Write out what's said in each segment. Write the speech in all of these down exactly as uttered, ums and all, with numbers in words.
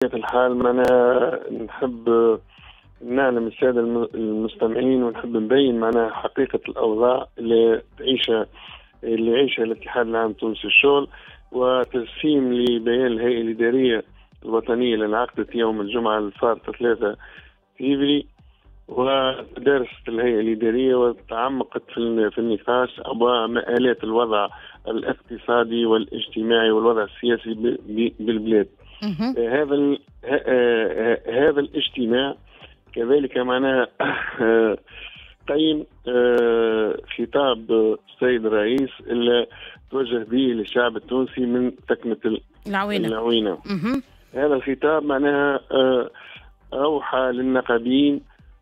الحال معناها نحب نعلم السادة المستمعين ونحب نبين معناها حقيقة الأوضاع اللي تعيشها اللي يعيشها الاتحاد العام التونسي للشغل، وتجسيم لبيان الهيئة الإدارية الوطنية اللي انعقدت يوم الجمعة الفارطة ثلاثة فيفري. ودرست الهيئة الإدارية وتعمقت في النقاش ومآلات الوضع الاقتصادي والاجتماعي والوضع السياسي بالبلاد. هذا هذا الاجتماع كذلك معناها قيم خطاب السيد الرئيس اللي توجه به للشعب التونسي من تكمة العوينة. العوينة. هذا الخطاب معناها أوحى للنقابيين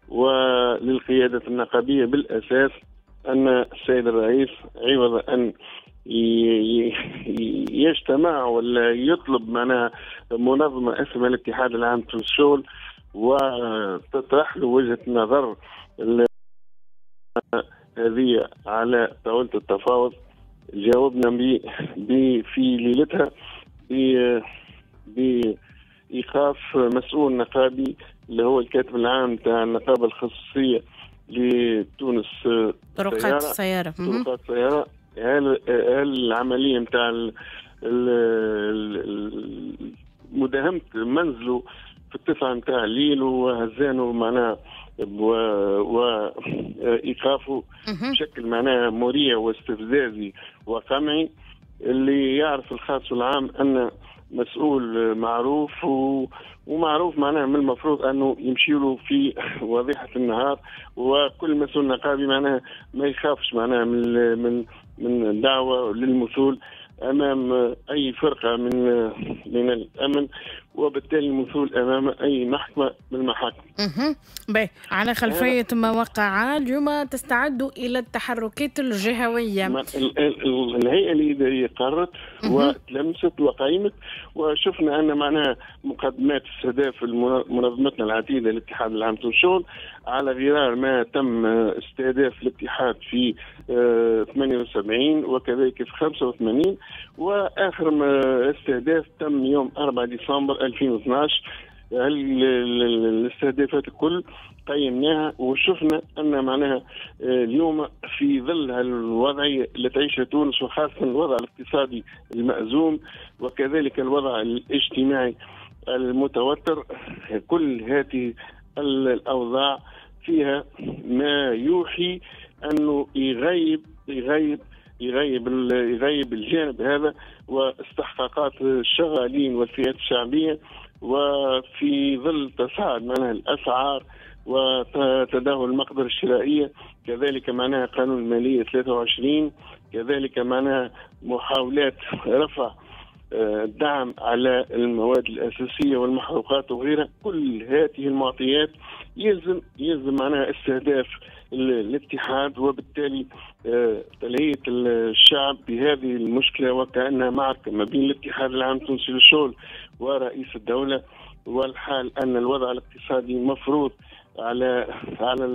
وللقيادة النقابية بالأساس أن السيد الرئيس عوض أن يجتمع ولا يطلب معناها منظمة اسمها الاتحاد العام للشغل وتطرح له وجهة نظر هذه على طاولة التفاوض، جاوبنا ب في ليلتها بإيقاف مسؤول نقابي اللي هو الكاتب العام تاع النقابة الخصوصية لتونس طرقات السيارة. طرقات السيارة. هل العملية نتاع مداهمة منزله في التسعة نتاع الليل وهزانه معناها وإيقافه بشكل معناها مريع واستفزازي وقمعي، اللي يعرف الخاص والعام أن مسؤول معروف و... ومعروف معناها من المفروض أنه يمشي له في وضيحة النهار، وكل مسؤول نقابي معناها ما يخافش معناها من من من دعوة للمثول أمام أي فرقة من من الأمن، وبالتالي المثول أمام أي محكمة من المحاكم. اها. باهي، على خلفية ما وقع اليوم تستعدوا إلى التحركات الجهوية. الهيئة الإدارية قررت وتلمست وقيمت، وشفنا أن معناها مقدمات استهداف منظمتنا العتيدة الاتحاد العام للشغل على غرار ما تم استهداف الاتحاد في ثمانية وسبعين وكذلك في خمسة وثمانين، وآخر استهداف تم يوم أربعة ديسمبر ألفين واثناش. الاستهدافات الكل قيمناها وشفنا ان معناها اليوم في ظل الوضعية اللي تعيشها تونس، وخاصة الوضع الاقتصادي المأزوم وكذلك الوضع الاجتماعي المتوتر، كل هذه الاوضاع فيها ما يوحي انه يغيب يغيب يغيب يغيب الجانب هذا واستحقاقات الشغالين والفئات الشعبية، وفي ظل تصاعد معناها الاسعار وتدهور المقدرة الشرائية، كذلك معناها قانون المالية ثلاثة وعشرين، كذلك معناها محاولات رفع الدعم على المواد الاساسية والمحروقات وغيرها. كل هذه المعطيات يلزم يلزم معناها استهداف الاتحاد، وبالتالي تلهية الشعب بهذه المشكلة وكأنها معركة ما بين الاتحاد العام التونسي للشغل ورئيس الدولة، والحال أن الوضع الاقتصادي مفروض على على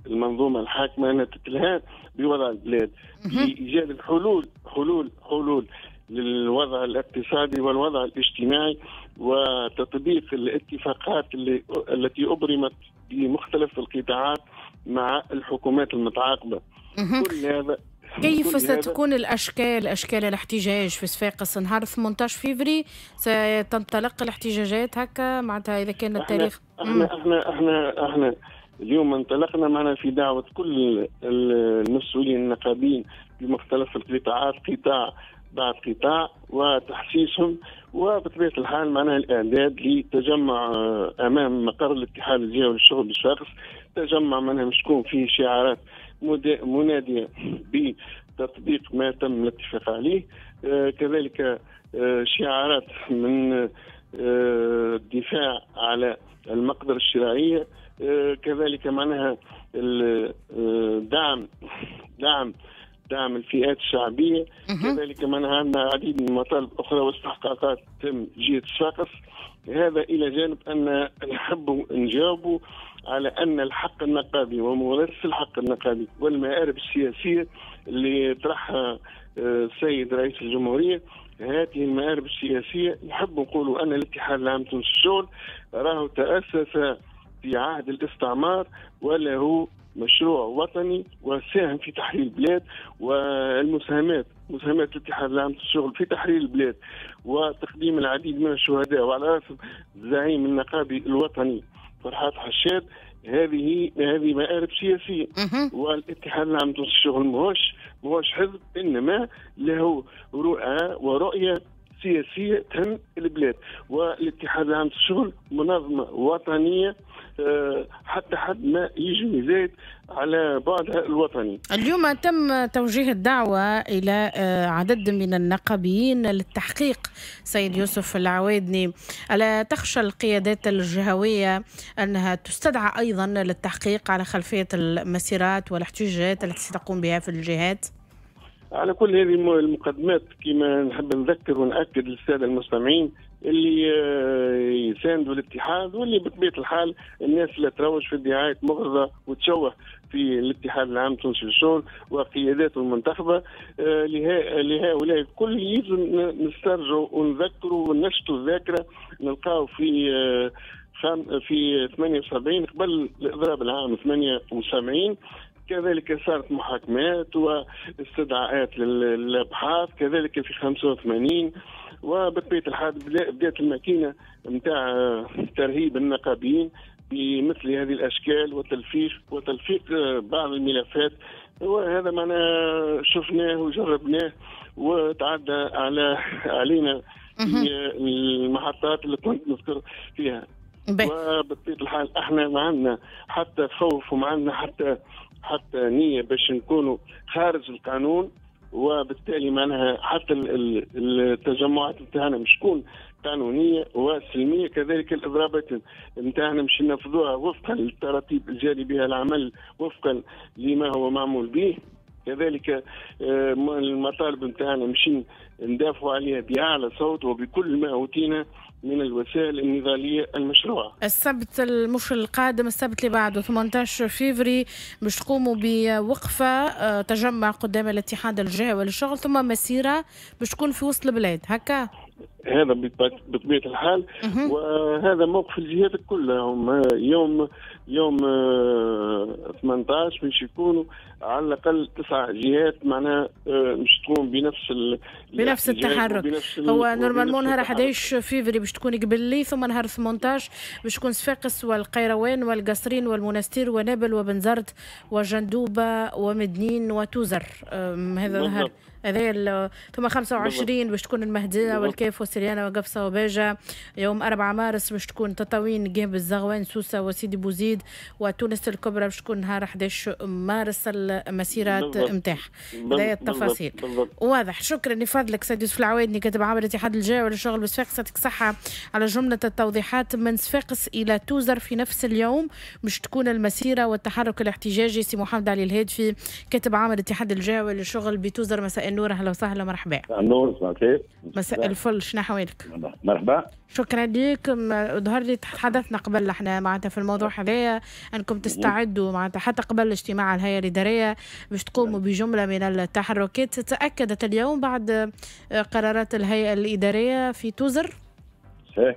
المنظومة الحاكمة أنها تتلهى بوضع البلاد بإيجاد الحلول حلول حلول للوضع الاقتصادي والوضع الاجتماعي، وتطبيق الاتفاقات اللي التي أبرمت بمختلف القطاعات مع الحكومات المتعاقبة. كل هذا كيف كل ستكون هذا الأشكال أشكال الاحتجاج في صفاقس نهار ثمانية عشر فيفري؟ ستنطلق الاحتجاجات هكا معناتها إذا كان التاريخ؟ احنا احنا احنا احنا اليوم انطلقنا معنا في دعوة كل المسؤولين النقابيين بمختلف القطاعات، قطاع بعد قطاع، وتحسيسهم، وبطبيعة الحال معناها الإعداد لتجمع أمام مقر الاتحاد الجهوي للشغل بصفاقس، تجمع معناها مش تكون فيه شعارات منادية بتطبيق ما تم الاتفاق عليه، كذلك شعارات من الدفاع على المقدرة الشرائية، كذلك معناها دعم دعم دعم الفئات الشعبية، كذلك معناها عندنا عديد من المطالب أخرى واستحقاقات تم جهة صفاقس. هذا إلى جانب أن نحب نجاوبوا على أن الحق النقابي وممارسة الحق النقابي والمآرب السياسية اللي طرحها السيد رئيس الجمهورية هذه المآرب السياسية. نحب نقولوا أن الاتحاد العام التونسي للشغل راهو تأسس في عهد الاستعمار وله مشروع وطني وساهم في تحرير البلاد، والمساهمات مساهمات الاتحاد العام للشغل في تحرير البلاد وتقديم العديد من الشهداء وعلى رأس الزعيم النقابي الوطني فرحات حشاد، هذه هذه مآرب سياسية. والاتحاد العام للشغل ماهوش ماهوش حزب، إنما له رؤى ورؤية سياسية تهم البلاد. والاتحاد العام للشغل منظمة وطنية حتى حد ما يجي يزايد على بعدها الوطني. اليوم تم توجيه الدعوة إلى عدد من النقابيين للتحقيق. سيد يوسف العوادني، ألا تخشى القيادات الجهوية أنها تستدعى أيضا للتحقيق على خلفية المسيرات والاحتجاجات التي ستقوم بها في الجهات؟ على كل هذه المقدمات كما نحب نذكر ونأكد للسادة المستمعين اللي يساندوا الاتحاد واللي بطبيعة الحال الناس اللي تروج في ادعاءات مغرضة وتشوه في الاتحاد العام التونسي للشغل وقياداته المنتخبة، لهؤلاء الكل يلزم نسترجعوا ونذكروا ونشطوا الذاكرة. نلقاو في في ثمانية وسبعين قبل الإضراب العام ثمانية وسبعين كذلك صارت محاكمات واستدعاءات للابحاث، كذلك في خمسة وثمانين. وبطبيعة الحال بدات الماكينة نتاع ترهيب النقابيين بمثل هذه الاشكال وتلفيق وتلفيق بعض الملفات، وهذا معناه شفناه وجربناه وتعدى على علينا في المحطات اللي كنت نذكر فيها. وبطبيعة الحال احنا ما عندنا حتى خوف وما عندنا حتى حتى نية باش نكونوا خارج القانون، وبالتالي معناها حتى التجمعات نتاعنا مش تكون قانونية وسلمية، كذلك الإضرابات نتاعنا مش ننفذوها وفقا للتراتيب الجاري بها العمل وفقا لما هو معمول به، كذلك المطالب نتاعنا مش ندافعوا عليها بأعلى صوت وبكل ما أوتينا من الوسائل النضالية المشروعة. السبت المش القادم، السبت اللي بعده ثمانية عشر فيفري، باش تقوموا بوقفة تجمع قدام الاتحاد الجهوي للشغل ثم مسيرة باش تكون في وسط البلاد هكا؟ هذا بطبيعة الحال، وهذا موقف الجهات كلها. هم يوم يوم ثمانية عشر باش يكونوا على الأقل تسع جهات معناها مش تقوم بنفس ال... بنفس التحرك. هو normalement نهار أحد عشر فيفري باش تكون قبلي، ثم نهار ثمانية عشر باش تكون صفاقس والقيروان والقصرين والمنستير ونابل وبنزرت وجندوبة ومدنين وتوزر، هذا نهار هذا. ثم خمسة وعشرين باش تكون المهدية والكيف وسريانة وقفصة وباجة. يوم أربعة مارس باش تكون تطاوين جنب الزغوان سوسة وسيدي بوزيد، وتونس الكبرى باش تكون نهار أحد عشر مارس المسيرات نتاعها. هذه التفاصيل واضح. شكرا لفضلك سيد يوسف العوادني، كاتب عام الاتحاد الجهوي للشغل بصفاقس، يعطيك الصحة على جملة التوضيحات. من صفاقس إلى توزر في نفس اليوم باش تكون المسيرة والتحرك الاحتجاجي. سي محمد علي الهادفي، كاتب عام الاتحاد الجهوي للشغل بتوزر، مساء النور، اهلا وسهلا، مرحبا. مساء النور، مساء الخير. مساء الفل، شنو احوالك؟ مرحبا. شكرا لك. ظهر لي تحدثنا قبل احنا معناتها في الموضوع هذايا انكم تستعدوا معناتها حتى قبل اجتماع الهيئة الادارية باش تقوموا بجملة من التحركات. تاكدت اليوم بعد قرارات الهيئة الادارية في توزر؟ صحيح.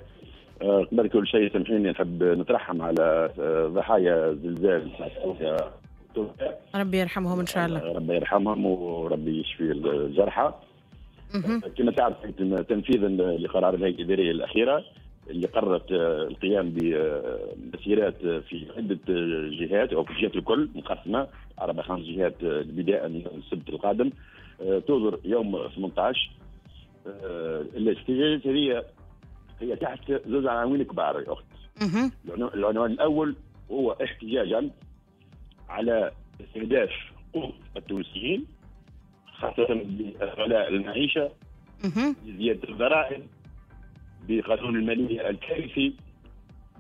قبل كل شيء سامحيني نحب نترحم على ضحايا زلزال ربي يرحمهم ان شاء الله. ربي يرحمهم وربي يشفي الجرحى. كما تعرف تنفيذا لقرار الهيئة الادارية الاخيرة اللي قررت القيام بمسيرات في عده جهات او في الجهات الكل مقسمة اربع خمس جهات بداية من السبت القادم توزر يوم ثمانية عشر. الاحتجاجات هذه هي تحت زوج عناوين كبار يا اخت. العنوان الاول هو احتجاجا على استهداف قوت التونسيين خاصة بغلاء المعيشة، بزيادة الضرائب، بقانون المالية الكارثي،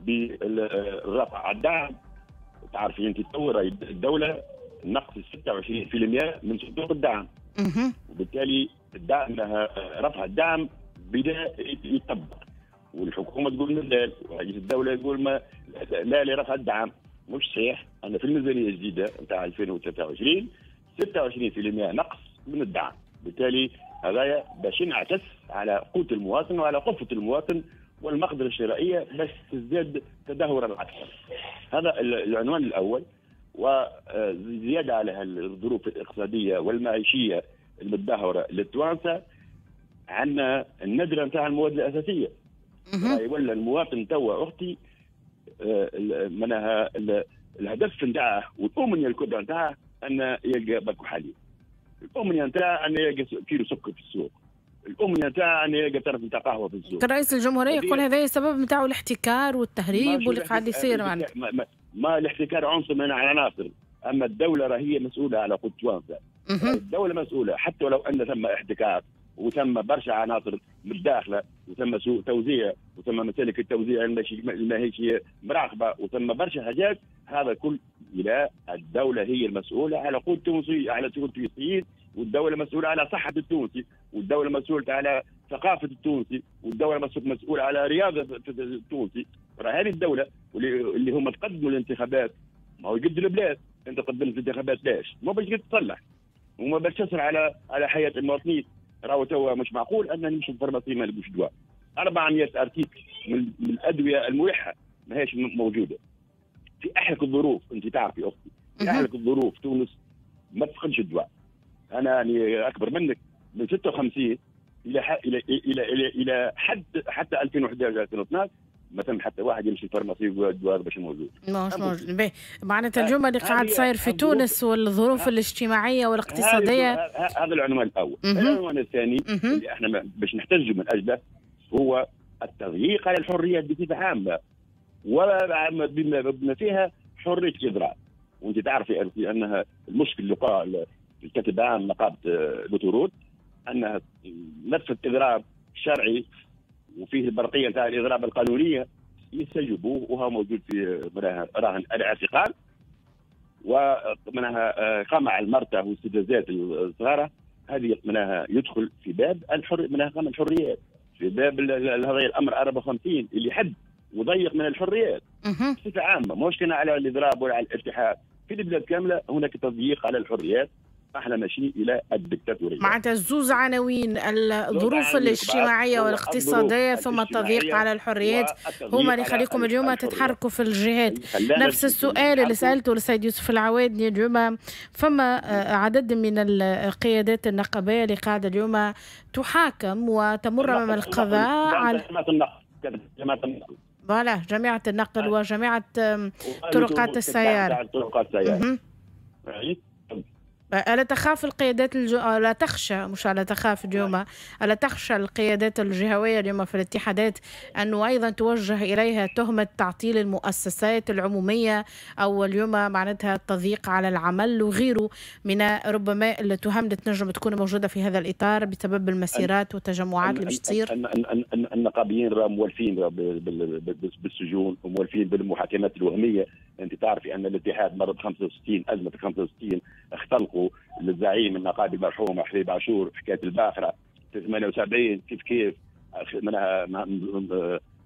بالرفع على الدعم. تعرفي انت تو الدولة نقص ستة وعشرين بالمئة من صندوق الدعم، وبالتالي الدعم رفع الدعم بدا يطبق، والحكومة تقول مازال، ورئيس الدولة يقول ما لا لرفع الدعم. مش صحيح. أنا في الميزانية الجديدة نتاع ألفين وثلاثة وعشرين ستة وعشرين بالمئة نقص من الدعم. بالتالي هذايا باش ينعكس على قوت المواطن وعلى قفة المواطن والمقدرة الشرائية باش تزداد تدهورا أكثر. هذا العنوان الأول. وزيادة على الظروف الاقتصادية والمعيشية المتدهورة للتوانسة، عندنا الندرة نتاع المواد الأساسية. ولا المواطن توا أختي منها الهدف نتاعه والأمنية الكبرى نتاعه أن يلقى باكو حليب، الأمنية نتاعه أن يلقى كيلو سكر في السوق، الأمنية نتاعه أن يلقى طرف نتاع قهوة في السوق. رئيس الجمهورية يقول هذا السبب نتاعو الاحتكار والتهريب واللي قاعد يصير. ما, ما, ما الاحتكار عنصر من العناصر، أما الدولة راهي مسؤولة على قوت التوانسة. الدولة مسؤولة حتى ولو أن ثم احتكار وثم برشا عناصر متداخلة وثم سوء توزيع وثم مسالك التوزيع الماهيش مراقبة وثم برشا حاجات، هذا كل الى الدولة هي المسؤولة على قوت التونسي، على التونسيين، والدولة مسؤولة على صحة التونسي، والدولة مسؤولة على ثقافة التونسي، والدولة مسؤولة على رياضة التونسي. راه هذه الدولة واللي هم تقدموا الانتخابات، ما هو يقد البلاد، انت قدمت الانتخابات ليش؟ ما باش تصلح وما باش تسر على على حياة المواطنين. راهو توا مش معقول ان نمشي لل pharmacie ما نلقوش دواء. أربعمائة article من, من الادوية الملحة ماهيش موجودة. في احلك الظروف، انت تعرفي اختي، في احلك الظروف تونس ما تفقدش الدواء. انا يعني اكبر منك من ستة وخمسين الى الى الى الى, إلى حد حتى ألفين وأحد عشر ألفين واثناش ما ثم حتى واحد يمشي ال pharmacie يقول الدواء باش موجود. ماهوش موجود. باهي، معناتها اليوم اللي قاعد صاير في تونس والظروف الاجتماعية والاقتصادية. هذا العنوان الاول. العنوان الثاني اللي احنا باش نحتجوا من اجله هو التضييق على الحريات بصفة عامة، وبما فيها حرية الاضراب. وانت تعرفي انها المشكل اللي وقع الكاتب العام نقابة l'autoroute انها نفس اضراب شرعي وفيه البرقيه نتاع الاضراب القانونية يستجيبوه، وهو موجود في راهن الاعتقال، ومنها قمع المرتة واستفزازات الصغارة. هذه منها يدخل في باب الحر، منها قمع الحريات في باب هذا الامر أربعة وخمسين اللي حد وضيق من الحريات بصفة عامة، ماهوش كان على الاضراب ولا على الاتحاد، في البلاد كاملة هناك تضييق على الحريات. احنا ماشيين الى الدكتاتورية. معناتها زوز عناوين، الظروف الاجتماعية والاقتصادية ثم التضييق على الحريات، هما اللي يخليكم اليوم تتحركوا في الجهات. نفس السؤال اللي سالته للسيد يوسف العوادني اليوم، فما عدد من القيادات النقابيه اللي قاعدة اليوم تحاكم وتمر امام القضاء على جماعة النقل، جماعة النقل voilà، جامعه النقل وجامعة طرقات السيارة. طرقات السيارة. ألا تخاف القيادات الج... ألا تخشى، مش ألا تخاف اليوم، ألا تخشى القيادات الجهوية اليوم في الاتحادات أنه أيضا توجه إليها تهمة تعطيل المؤسسات العمومية أو اليوم معناتها التضييق على العمل وغيره من ربما التهم اللي تنجم تكون موجودة في هذا الإطار بسبب المسيرات والتجمعات اللي باش تصير؟ النقابيين راه مولفين بالسجون ومولفين بالمحاكمات الوهمية. أنت تعرفي أن الاتحاد مر ب خمسة وستين، أزمة خمسة وستين اختلقوا للزعيم النقابي المرحوم حبيب عاشور حكاية الباخرة في ثمانية وسبعين كيف كيف منها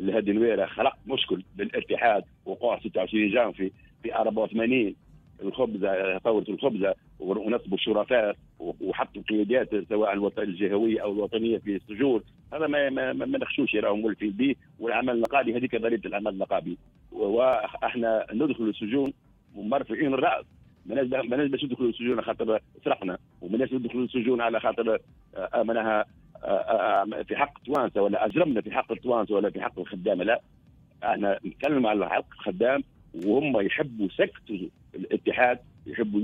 الهادي نويره خلق مشكل للاتحاد، وقوع ستة وعشرين جانفي في أربعة وثمانين الخبزة، ثورة الخبزة، ونصبوا الشرفاء وحطوا قيادات سواء الجهوية او الوطنية في السجون. هذا ما ما, ما نخشوش، راهم مولفين به. والعمل النقابي هذيك ضريبة العمل النقابي، واحنا ندخل السجون ومرفوعين الراس، ما باش ندخلوا السجون خاطر سرقنا، وما ندخلوا السجون على خاطر معناها في حق التوانسة ولا اجرمنا في حق التوانسة ولا في حق الخدامة. لا، احنا نتكلم على حق الخدام، وهم يحبوا سكتوا الاتحاد، يحبوا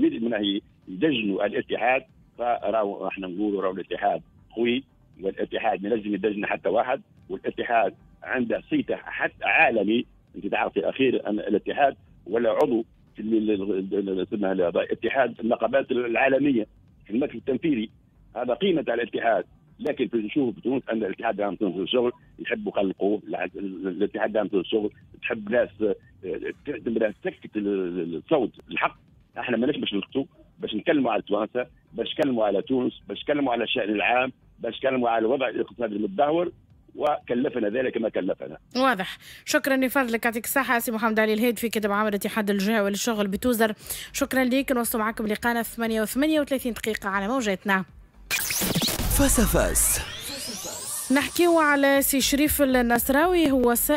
يدجنوا الاتحاد. فراو احنا نقولوا راهو الاتحاد قوي، والاتحاد ما ينجم يدجن حتى واحد، والاتحاد عنده صيته حتى عالمي. انت تعرفي اخير ان الاتحاد ولا عضو في اسمها اتحاد النقابات العالمية في المكتب التنفيذي، هذا قيمة على الاتحاد. لكن نشوف في تونس ان الاتحاد دام تونس الشغل يحبوا يخلقوه، الاتحاد دام تونس الشغل تحب ناس تسكت الصوت الحق. احنا ماناش باش نسكتوا، باش نتكلموا على التوانسة، باش نتكلموا على تونس، باش نتكلموا على الشان العام، باش نتكلموا على الوضع الاقتصادي المتدهور، وكلفنا ذلك ما كلفنا. واضح. شكرا لفضلك، يعطيك الصحة سي محمد علي الهادفي كاتب عام الاتحاد الجهوي للشغل بتوزر. شكرا لك. نوصل معكم لقانا ثمانية وثمانية وثلاثين دقيقة على موجاتنا. face à face. نحكيو على سي شريف النصراوي، هو سائق